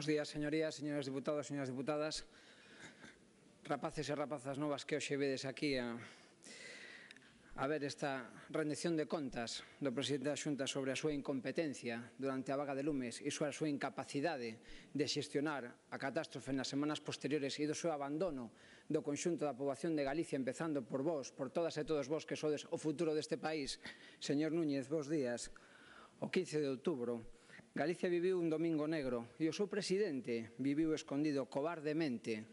Bos días, señorías, señores diputados, señoras diputadas, rapaces e rapazas novas que hoxe vedes aquí a ver esta rendición de contas do presidente da Xunta sobre a súa incompetencia durante a vaga de lumes e sobre a súa incapacidade de xestionar a catástrofe nas semanas posteriores e do seu abandono do conxunto da poboación de Galicia, empezando por vós, por todas e todos vós que sodes o futuro deste país. Señor Núñez, bos días. O 15 de outubro, Galicia viviu un domingo negro e o seu presidente viviu escondido cobardemente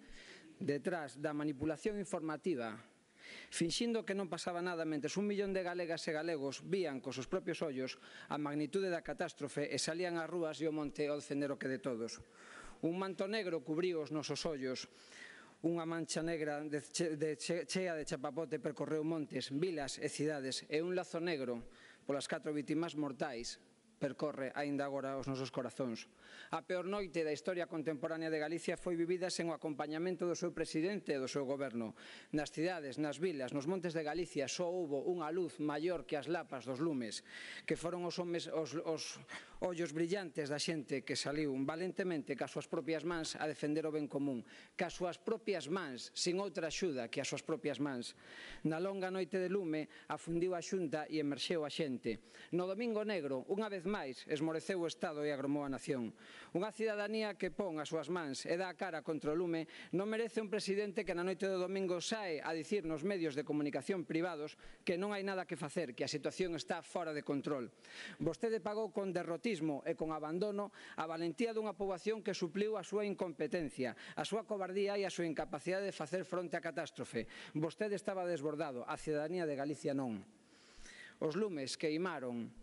detrás da manipulación informativa, finxindo que non pasaba nada mentres 1 millón de galegas e galegos vían cos seus propios ollos a magnitude da catástrofe e salían ás rúas e ao monte ao defender o que de todos. Un manto negro cubriu os nosos ollos, unha mancha negra chea de chapapote percorreu montes, vilas e cidades e un lazo negro polas 4 vítimas mortais percorre aínda agora os nosos corazóns. A peor noite da historia contemporánea de Galicia foi vivida sen o acompañamento do seu presidente e do seu goberno. Nas cidades, nas vilas, nos montes de Galicia só houbo unha luz maior que as lapas dos lumes, que foron os ollos brillantes da xente que saliu valentemente cas súas propias mans a defender o ben común, cas súas propias mans, sin outra axuda que as súas propias mans. Na longa noite de lume afundiu a Xunta e emerxeu a xente. No domingo negro, unha vez máis, esmoreceu o Estado e agromou a nación. Unha cidadanía que pon as súas mans e dá a cara contra o lume non merece un presidente que na noite do domingo sae a dicir nos medios de comunicación privados que non hai nada que facer, que a situación está fora de control. Vostede pagou con derrotismo e con abandono a valentía dunha poboación que supliu a súa incompetencia, a súa cobardía e a súa incapacidade de facer fronte á catástrofe. Vostede estaba desbordado, a cidadanía de Galicia non. Os lumes queimaron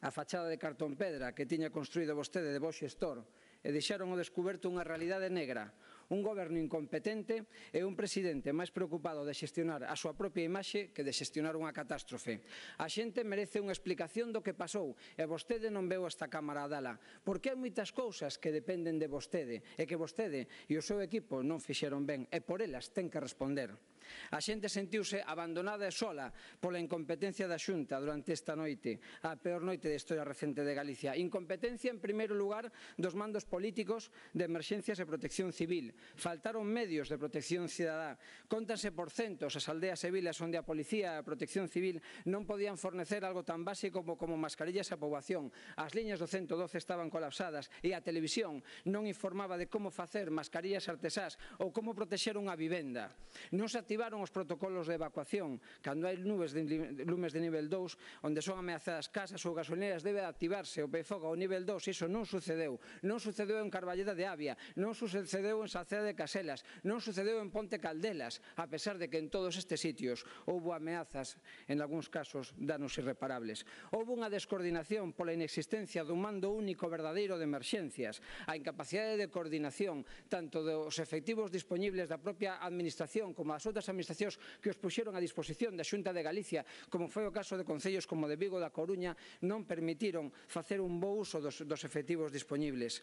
a fachada de cartón pedra que tiña construído vostede de bo xestor e deixaron ao descuberto unha realidade negra, un goberno incompetente e un presidente máis preocupado de xestionar a súa propia imaxe que de xestionar unha catástrofe. A xente merece unha explicación do que pasou e vostede non veu esta Cámara a dala, porque hai moitas cousas que dependen de vostede e que vostede e o seu equipo non fixeron ben e por elas ten que responder. A xente sentiuse abandonada e sola pola incompetencia da Xunta durante esta noite, a peor noite da historia recente de Galicia. Incompetencia, en primeiro lugar, dos mandos políticos de emerxencias e protección civil. Faltaron medios de protección cidadá. Cóntanse por centos as aldeas e vilas onde a policía e a protección civil non podían fornecer algo tan básico como mascarillas á poboación. As liñas do 112 estaban colapsadas e a televisión non informaba de como facer mascarillas artesás ou como protexer unha vivenda. Non se activaron os protocolos de evacuación. Cando hai lumes de nivel 2, onde son ameazadas casas ou gasolineras, debe activarse o PFOG ao nivel 2. Iso non sucedeu. Non sucedeu en Carballeda de Avia, non sucedeu en Salceda de Caselas, non sucedeu en Ponte Caldelas, a pesar de que en todos estes sitios houbo ameazas, en algúns casos danos irreparables. Houbo unha descoordinación pola inexistencia dun mando único verdadeiro de emerxencias, a incapacidade de coordinación tanto dos efectivos disponibles da propia administración como das outras administracións que os puxeron a disposición da Xunta de Galicia, como foi o caso de concellos como de Vigo e da Coruña, non permitiron facer un bo uso dos efectivos disponibles.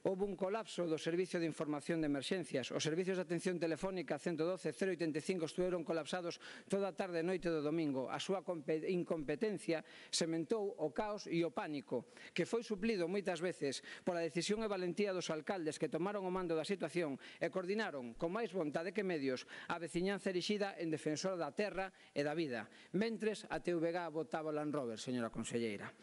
Houbo un colapso do Servicio de Información de Emerxencias. Os servicios de atención telefónica 112 e 085 estuveron colapsados toda a tarde e noite do domingo. A súa incompetencia sementou o caos e o pánico, que foi suplido moitas veces pola decisión e valentía dos alcaldes que tomaron o mando da situación e coordinaron, con máis vontade que medios, a veciñanza erixida en defensora da terra e da vida. Mentres, a TVG votaba o Land Rover, señora conselleira.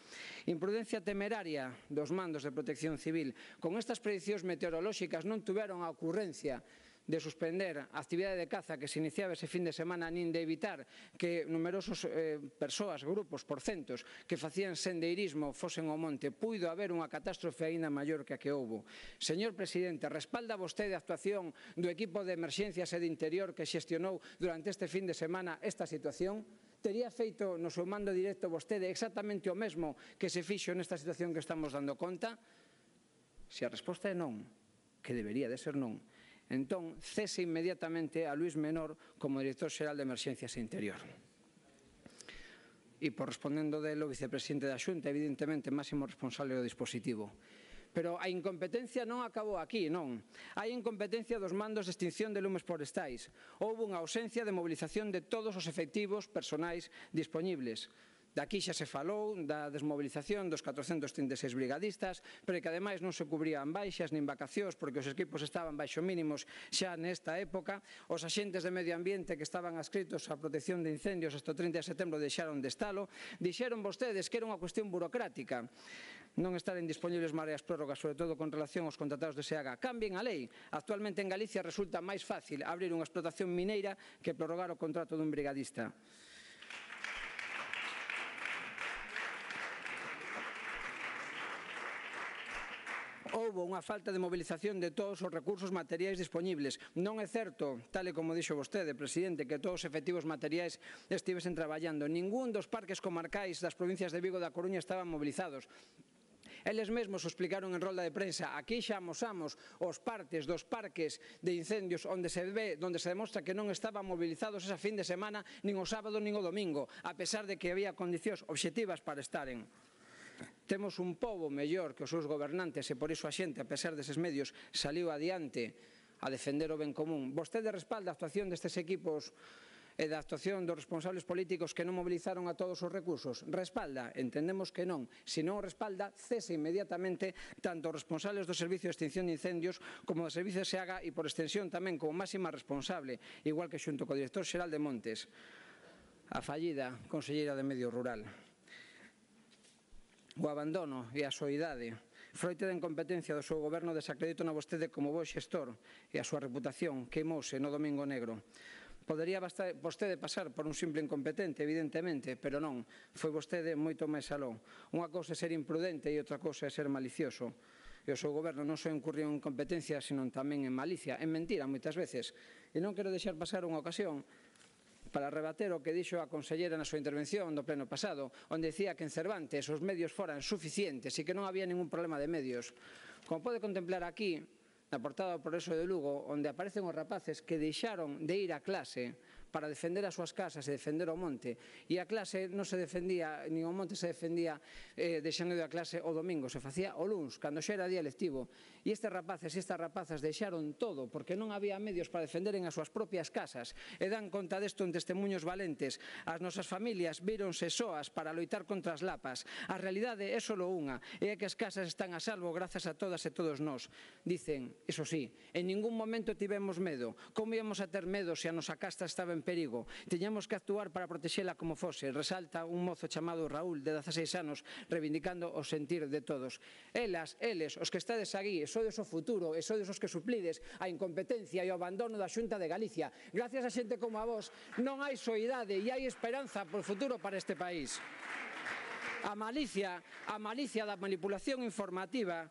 Imprudencia temeraria dos mandos de protección civil. Con estas predicións meteorolóxicas non tuveron a ocurrencia de suspender a actividade de caza que se iniciaba ese fin de semana, nin de evitar que numerosos persoas, grupos, por centos, que facían sendeirismo fosen ao monte. Puido haber unha catástrofe aínda maior que a que houbo. Señor presidente, respalda vostede a actuación do equipo de emerxencias e de interior que xestionou durante este fin de semana esta situación? Tería feito no seu mando directo vostede exactamente o mesmo que se fixo nesta situación que estamos dando conta? Se a resposta é non, que debería de ser non, entón cese inmediatamente a Luís Menor como director xeral de Emerxencias e Interior. E por respondendo dele o vicepresidente da Xunta, evidentemente máximo responsable do dispositivo. Pero a incompetencia non acabou aquí, non. Hai incompetencia dos mandos de extinción de lumes forestais. Houbo unha ausencia de mobilización de todos os efectivos personais disponibles. Daqui xa se falou da desmobilización dos 436 brigadistas, pero que ademais non se cubrían baixas nin vacacións porque os equipos estaban baixo mínimos xa nesta época. Os axentes de medio ambiente que estaban adscritos á protección de incendios hasta o 30 de setembro deixaron de estalo. Dixeron vostedes que era unha cuestión burocrática non estaren dispoñibles mareas prórrogas, sobre todo con relación aos contratados de SEAGA. Cambien a lei. Actualmente en Galicia resulta máis fácil abrir unha explotación mineira que prorrogar o contrato dun brigadista. Houbo unha falta de mobilización de todos os recursos materiais dispoñibles. Non é certo, tal e como dixo vostede, presidente, que todos os efectivos materiais estivesen traballando. Ningún dos parques comarcais das provincias de Vigo e da Coruña estaban mobilizados. Eles mesmos o explicaron en rolda de prensa. Aquí xa amosamos os partes dos parques de incendios onde se demostra que non estaban movilizados esa fin de semana, nin o sábado nin o domingo, a pesar de que había condicións obxectivas para estaren. Temos un pobo mellor que os seus gobernantes e por iso a xente, a pesar deses medios, saliu adiante a defender o ben común. Vostede respalda a actuación destes equipos e da actuación dos responsables políticos que non movilizaron a todos os recursos? Respalda? Entendemos que non. Se non o respalda, cese inmediatamente tanto os responsables do Servicio de Extinción de Incendios como do Servicio de SEAGA e por extensión tamén como máxima responsable, igual que xunto co director xeral de Montes, a fallida conselleira de Medio Rural. O abandono e a soidade, froite da incompetencia do seu goberno, desacreditan a vostede como bo xestor e a súa reputación queimouse no Domingo Negro. Podería vostede pasar por un simple incompetente, evidentemente, pero non, foi vostede moito máis aló. Unha cousa é ser imprudente e outra cousa é ser malicioso. E o seu goberno non só incurriu en incompetencia, senón tamén en malicia, en mentira moitas veces. E non quero deixar pasar unha ocasión para rebater o que dixo a consellera na súa intervención do pleno pasado, onde dicía que en Cervantes os medios foran suficientes e que non había ningún problema de medios. Como pode contemplar aquí, na portada do Progreso de Lugo, onde aparecen os rapaces que deixaron de ir a clase para defender as súas casas e defender o monte, e a clase non se defendía, nin o monte se defendía deixando de a clase o domingo, se facía o luns, cando xa era día lectivo. E estes rapaces e estas rapazas deixaron todo porque non había medios para defenderen as súas propias casas, e dan conta desto en testemunhos valentes. As nosas familias víronse soas para loitar contra as lapas. A realidade é só unha, e é que as casas están a salvo grazas a todas e todos nós. Dicen, iso sí, en ningún momento tivemos medo. Como íamos a ter medo se a nosa casa estaba en perigo? Tiñamos que actuar para protexela como fose, resalta un mozo chamado Raúl, de 16 anos, reivindicando o sentir de todos. Elas, eles, os que estades aquí, sodes o futuro, e sodes os que suplides a incompetencia e o abandono da Xunta de Galicia. Gracias a xente como a vos non hai soidade e hai esperanza por futuro para este país. A malicia da manipulación informativa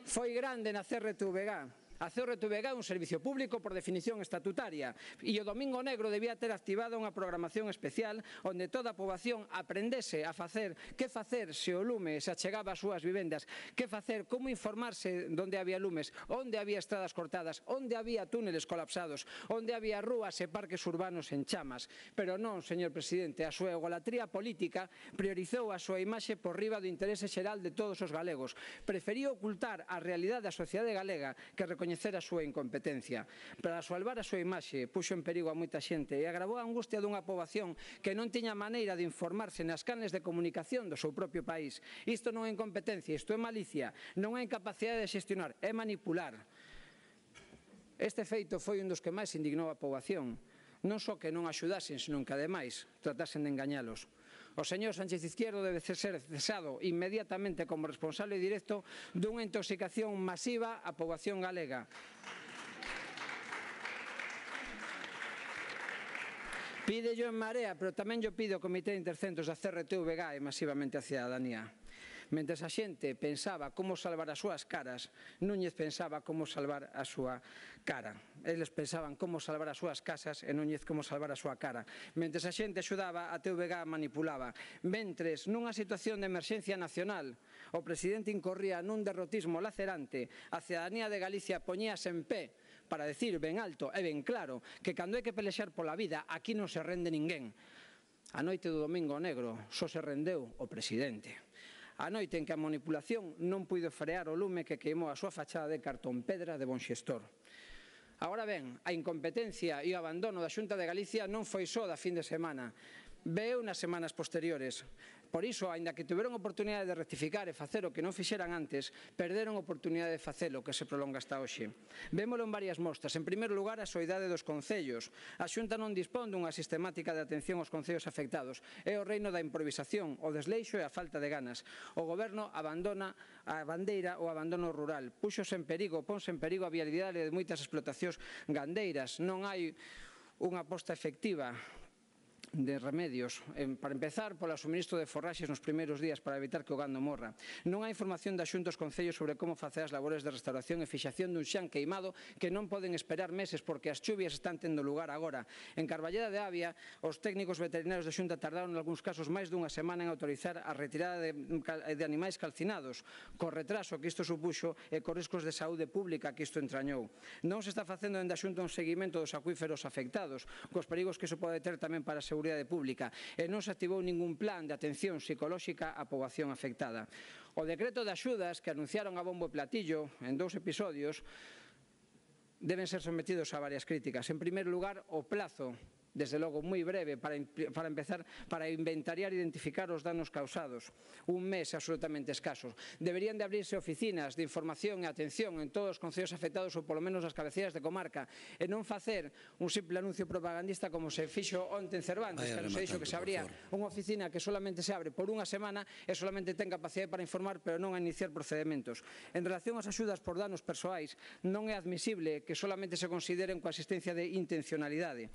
foi grande na CRTVG. A CRTVG é un servicio público por definición estatutaria e o Domingo Negro debía ter activado unha programación especial onde toda a poboación aprendese a facer que facer se o lume se achegaba ás súas vivendas, que facer, como informarse onde había lumes, onde había estradas cortadas, onde había túneles colapsados, onde había rúas e parques urbanos en chamas. Pero non, señor presidente, a súa egolatría política priorizou a súa imaxe por riba do interese xeral de todos os galegos. Preferiu ocultar a realidade da sociedade galega que recoñecer a súa incompetencia. Para salvar a súa imaxe, puxo en perigo a moita xente e agravou a angustia dunha poboación que non tiña maneira de informarse nas canles de comunicación do seu propio país. Isto non é incompetencia, isto é malicia, non é incapacidade de xestionar, é manipular. Este feito foi un dos que máis indignou a poboación. Non só que non axudasen, senón que, ademais, tratasen de engañalos. O señor Sánchez Izquierdo debe ser cesado inmediatamente como responsable directo dunha intoxicación masiva á poboación galega. Pídello en Marea, pero tamén yo pido ao Comité de Intercentros da CRTVG e masivamente a cidadanía. Mentres a xente pensaba como salvar as súas caras, Núñez pensaba como salvar a súa cara. Eles pensaban como salvar as súas casas e Núñez como salvar a súa cara. Mentres a xente axudaba, a TVG manipulaba. Mentres, nunha situación de emerxencia nacional, o presidente incorría nun derrotismo lacerante, a cidadanía de Galicia poñíase en pé para decir ben alto e ben claro que cando hai que pelexar pola vida, aquí non se rende ninguén. A noite do Domingo Negro só se rendeu o presidente. A noite en que a manipulación non puido frear o lume que queimou a súa fachada de cartón pedra de bon xestor. Agora ben, a incompetencia e o abandono da Xunta de Galicia non foi só da fin de semana. Veu nas semanas posteriores. Por iso, aínda que tiveron oportunidade de rectificar e facer o que non fixeran antes, perderon oportunidade de facelo, que se prolonga hasta hoxe. Vémolo en varias mostras. En primeiro lugar, a soidade dos concellos. A Xunta non dispón dunha sistemática de atención aos concellos afectados. É o reino da improvisación, o desleixo e a falta de ganas. O Goberno abandona a bandeira ou abandono rural. Ponse en perigo a viabilidade de moitas explotacións gandeiras. Non hai unha aposta efectiva de remedios, para empezar, polo suministro de forraxes nos primeiros días para evitar que o gando morra. Non hai información da Xunta aos concellos sobre como facer as labores de restauración e fixación dun xan queimado que non poden esperar meses porque as chuvias están tendo lugar agora. En Carballeda de Avia, os técnicos veterinarios da Xunta tardaron en algúns casos máis dunha semana en autorizar a retirada de animais calcinados, co retraso que isto supuxo e cos riscos de saúde pública que isto entrañou. Non se está facendo dende a Xunta un seguimento dos acuíferos afectados, cos perigos que iso pode ter tamén para a seguridade pública, e non se activou ningún plan de atención psicolóxica á poboación afectada. O decreto de axudas que anunciaron a bombo e platillo en 2 episodios deben ser sometidos a varias críticas. En primeiro lugar, o plazo, desde logo moi breve, para empezar, para inventariar e identificar os danos causados. Un mes absolutamente escaso. Deberían de abrirse oficinas de información e atención en todos os concellos afectados ou polo menos nas cabeceiras de comarca e non facer un simple anuncio propagandista como se fixo onte en Cervantes, que se dixo que se abría unha oficina que solamente se abre por unha semana e solamente ten capacidade para informar pero non a iniciar procedementos. En relación ás axudas por danos persoais, non é admisible que solamente se consideren coa asistencia de intencionalidade.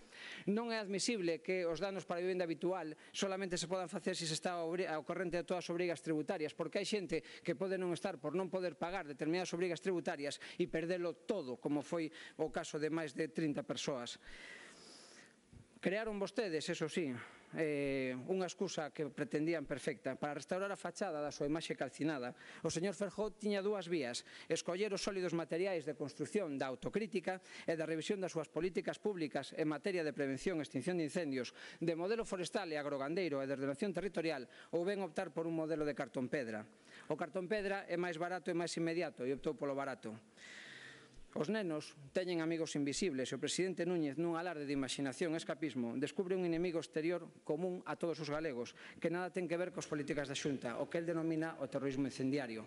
Non é admisible que os danos para a vivenda habitual solamente se podan facer se está ao corrente de todas as obrigas tributarias, porque hai xente que pode non estar por non poder pagar determinadas obrigas tributarias e perdelo todo, como foi o caso de máis de 30 persoas. Crearon vostedes, eso sí, unha excusa que pretendían perfecta para restaurar a fachada da súa imaxe calcinada. O señor Feijóo tiña 2 vías: escoller os sólidos materiais de construción da autocrítica e da revisión das súas políticas públicas en materia de prevención e extinción de incendios, de modelo forestal e agrogandeiro e de ordenación territorial, ou ben optar por un modelo de cartón pedra. O cartón pedra é máis barato e máis inmediato e optou polo barato. Os nenos teñen amigos invisibles e o presidente Núñez, nun alarde de imaxinación e escapismo, descubre un inimigo exterior común a todos os galegos, que nada ten que ver cos políticas da Xunta, o que el denomina o terrorismo incendiario.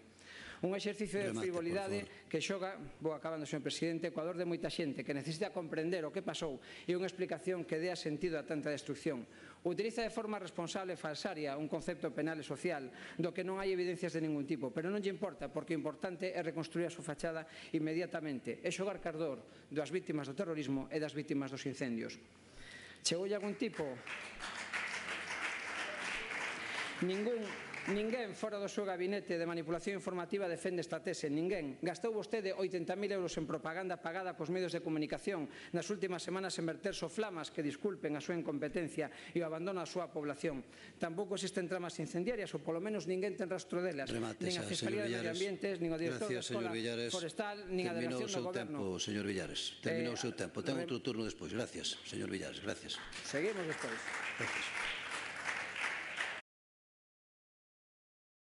Un exercicio de frivolidade que xoga, vou acabando, señor presidente, co dor de moita xente que necesita comprender o que pasou e unha explicación que dea sentido a tanta destrucción. Utiliza de forma responsable e falsaria un concepto penal e social do que non hai evidencias de ningún tipo, pero non lle importa, porque o importante é reconstruir a súa fachada inmediatamente e xogar cardor das vítimas do terrorismo e das vítimas dos incendios. Chegoulle algún tipo? Ninguén fora do seu gabinete de manipulación informativa defende esta tese, ninguén. Gastou vostede 80.000 euros en propaganda pagada pos medios de comunicación nas últimas semanas en verter soflamas que disculpen a súa incompetencia e o abandono á súa población. Tampouco existen tramas incendiarias, ou polo menos ninguén ten rastro delas, nin a Fiscalía de Medio Ambiente, nin o director da Escola Forestal, nin a Delegación do Goberno. Señor Villares, terminou o seu tempo. Ten outro turno despois. Gracias, señor Villares, gracias. Seguimos despois. Gracias.